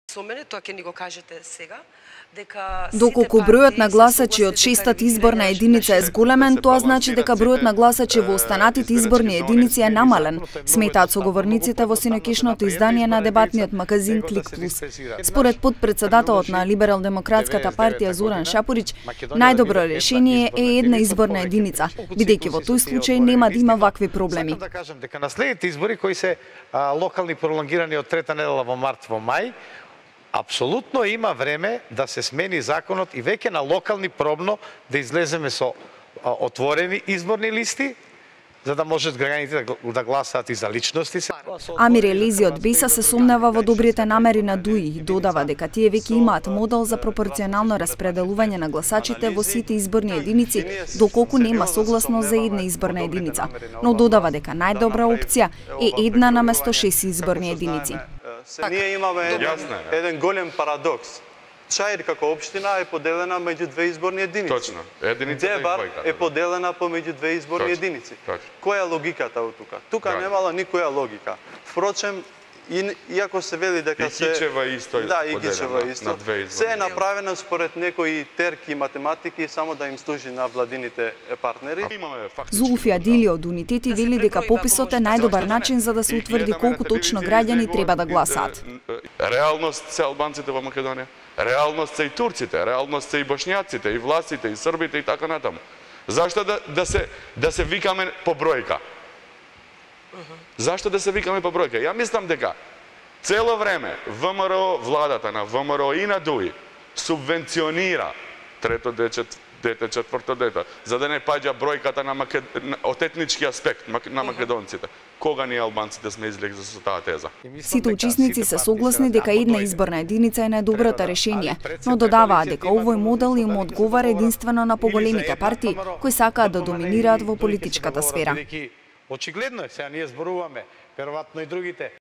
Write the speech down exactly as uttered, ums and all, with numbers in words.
Со мене, тоа ќе ни го кажете сега, дека доколку бројот на гласачи од шестата изборна единица е зголемен, тоа значи дека бројот на гласачи во останатите изборни единици е намален, сметаат соговорниците во синоќишното издание на дебатниот магазин Клик Плюс. Според потпредседателот на Либерал-демократската партија Зоран Шапорич, најдобро решение е една изборна единица, бидејќи во тој случај нема да има вакви проблеми. Сакам да кажам дека на следните избори кои се а, локални пролонгирани од трета недела во март во мај, апсолутно има време да се смени законот и веќе на локални пробно да излеземе со а, отворени изборни листи, за да можат граѓаните да, да гласаат и за личности. Амир Елези од Беса се сомнева во добрите намери на ДУИ и додава дека тие веќе имаат модел за пропорционално распределување на гласачите во сите изборни единици, доколку нема согласност за една изборна единица, но додава дека најдобра опција е една наместо шест изборни единици. Се, ние имаме еден, еден голем парадокс. Чаир како општина е поделена меѓу две изборни единици. Точно. Единицата Девар и двојката. е поделена помеѓу две изборни Точно. единици. Точно. Која е логиката од тука? Тука Да. немала никоја логика. Впрочем, и, иако се вели дека И се Кичева исто е да, и поделена Кичева исто. на две изборни. Се е направено според некои терки и математики само да им служи на владините партнери. Зулфи Адили од Унитети вели дека пописот е најдобар начин за да се утврди колку точно граѓани треба да гласаат. Реалност се албанците во Македонија, реалност се и турците, реалност се и бошњаците, и власите, и србите и така натаму. Зашто да, да се да се викаме по бројка? Зашто да се викаме по бројка? Ја мислам дека цело време ВМРО, владата на ВМРО и на ДУИ субвенционира трето дете, дете, четврто дете, за да не паѓа бројката на Макед... од етнички аспект на македонците. Кога ние албанците сме излегли со таа теза? Сите учесници се согласни дека една изборна единица е најдоброто решение, но додаваат дека овој модел им одговара единствено на поголемите партии кои сакаат да доминираат во политичката сфера. Очигледно е, сега ние зборуваме, веројатно и другите